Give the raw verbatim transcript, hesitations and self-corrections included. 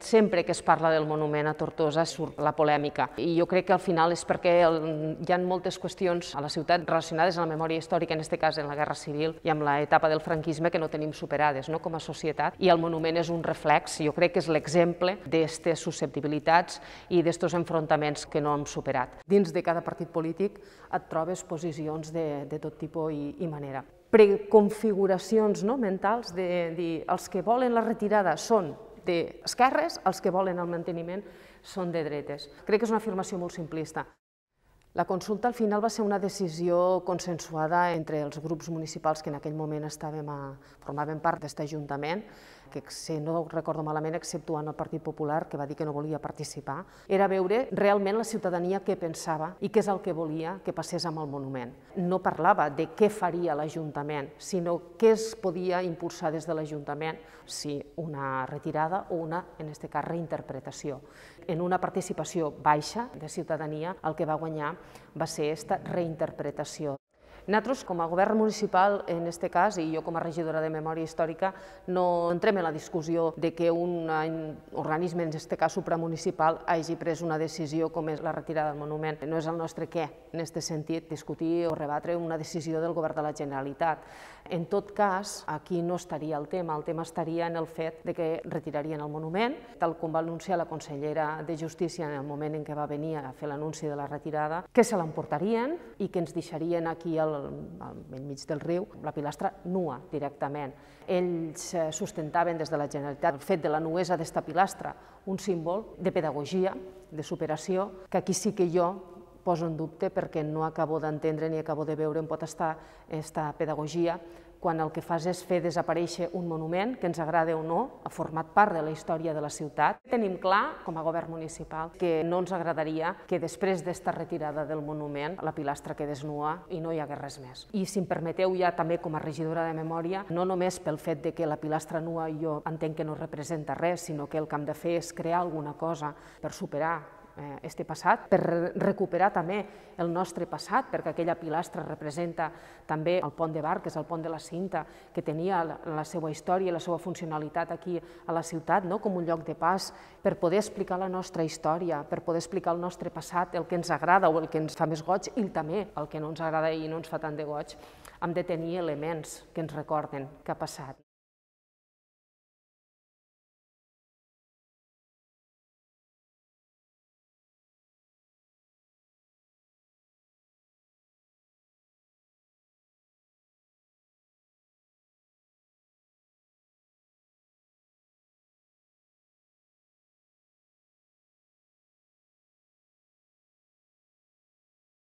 sempre que es parla del monument a Tortosa surt la polèmica. I jo crec que al final és perquè hi ha moltes qüestions a la ciutat relacionades amb la memòria històrica, en aquest cas en la Guerra Civil i amb l'etapa del franquisme, que no tenim superades no, com a societat, i el monument és un reflex, jo crec que és l'exemple d'aquestes susceptibilitats i d'aquests enfrontaments que no hem superat. Dins de cada partit polític et trobes posicions de, de tot tipus i, i manera. Preconfiguracions no, mentals de dir els que volen la retirada són d'esquerres, els que volen el manteniment són de dretes. Crec que és una afirmació molt simplista. La consulta al final va ser una decisió consensuada entre els grups municipals que en aquell moment estàvem a, formaven part d'aquest ajuntament, que si no recordo malament, exceptuant el Partit Popular, que va dir que no volia participar, era veure realment la ciutadania què pensava i què és el que volia que passés amb el monument. No parlava de què faria l'Ajuntament, sinó què es podia impulsar des de l'Ajuntament, si una retirada o una, en aquest cas, reinterpretació. En una participació baixa de ciutadania, el que va guanyar va ser aquesta reinterpretació. Nosaltres, com a govern municipal, en aquest cas, i jo com a regidora de Memòria Històrica, no entrem en la discussió de que un organisme, en aquest cas supramunicipal, hagi pres una decisió com és la retirada del monument. No és el nostre què, en aquest sentit, discutir o rebatre una decisió del govern de la Generalitat. En tot cas, aquí no estaria el tema, el tema estaria en el fet de que retirarien el monument, tal com va anunciar la consellera de Justícia en el moment en què va venir a fer l'anunci de la retirada, que se l'emportarien i que ens deixarien aquí al enmig del riu, la pilastra nua directament. Ells sustentaven des de la Generalitat el fet de la nuesa d'esta pilastra, un símbol de pedagogia, de superació, que aquí sí que jo poso en dubte perquè no acabo d'entendre ni acabo de veure on pot estar aquesta pedagogia quan el que fas és fer desaparèixer un monument que ens agrada o no, ha format part de la història de la ciutat. Tenim clar, com a govern municipal, que no ens agradaria que després d'esta retirada del monument la pilastra quedés nua i no hi hagués res més. I si em permeteu ja també com a regidora de Memòria, no només pel fet de que la pilastra nua jo entenc que no representa res, sinó que el que hem de fer és crear alguna cosa per superar este passat, per recuperar també el nostre passat, perquè aquella pilastra representa també el pont de Bar, que és el pont de la Cinta, que tenia la seva història i la seva funcionalitat aquí a la ciutat, com un lloc de pas, per poder explicar la nostra història, per poder explicar el nostre passat, el que ens agrada o el que ens fa més goig i també el que no ens agrada i no ens fa tant de goig, hem de tenir elements que ens recorden què ha passat.